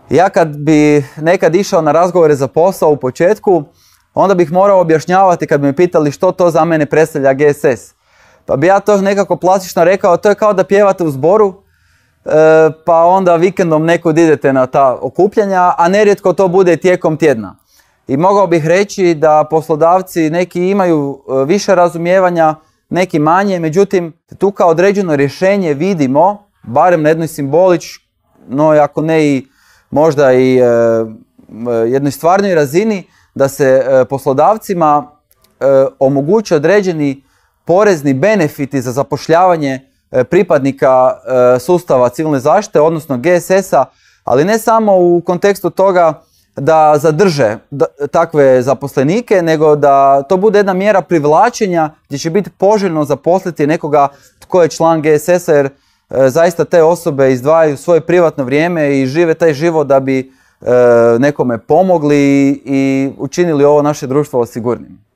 Ja kad bi nekad išao na razgovore za posao u početku, onda bih morao objašnjavati kad bi me pitali što to za mene predstavlja GSS. Pa bi ja to nekako plastično rekao, to je kao da pjevate u zboru, pa onda vikendom nekud idete na ta okupljanja, a nerijetko to bude tijekom tjedna. I mogao bih reći da poslodavci neki imaju više razumijevanja, neki manje, međutim tu kao određeno rješenje vidimo, barem na jednoj simboličnoj, ako ne i možda i jednoj stvarnoj razini, da se poslodavcima omoguće određeni porezni benefiti za zapošljavanje pripadnika sustava civilne zaštite, odnosno GSS-a, ali ne samo u kontekstu toga da zadrže takve zaposlenike, nego da to bude jedna mjera privlačenja gdje će biti poželjno zaposliti nekoga tko je član GSS-a, jer zaista te osobe izdvajaju svoje privatno vrijeme i žive taj život da bi nekome pomogli i učinili ovo naše društvo sigurnim.